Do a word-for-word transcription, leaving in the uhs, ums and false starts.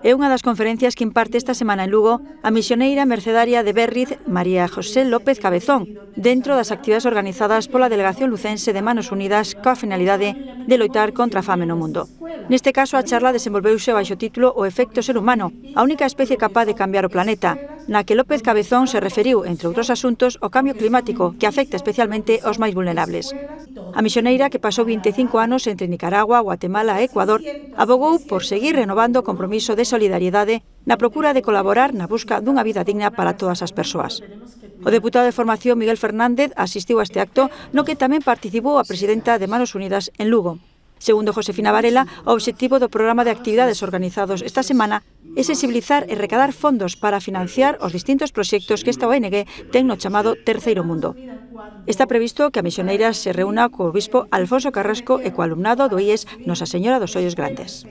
É unha das conferencias que imparte esta semana en Lugo a misioneira mercedaria de Berriz, María José López Cabezón, dentro das actividades organizadas pola Delegación Lucense de Manos Unidas coa finalidade de loitar contra a fame no mundo. Neste caso, a charla desenvolveuse baixo o título O efecto ser humano, a única especie capaz de cambiar o planeta, na que López Cabezón se referiu, entre outros asuntos, ao cambio climático, que afecta especialmente aos máis vulnerables. A misioneira, que pasou vinte e cinco anos entre Nicaragua, Guatemala e Ecuador, abogou por seguir renovando o compromiso de solidariedade na procura de colaborar na busca dunha vida digna para todas as persoas. O deputado de Formación Miguel Fernández asistiu a este acto, no que tamén participou a presidenta de Manos Unidas en Lugo. Segundo Josefina Varela, o obxectivo do programa de actividades organizados esta semana é sensibilizar e recadar fondos para financiar os distintos proxectos que esta O N G ten no chamado Terceiro Mundo. Está previsto que a misioneira se reúna co bispo Alfonso Carrasco e co alumnado do I E S Nosa Señora dos Ollos Grandes.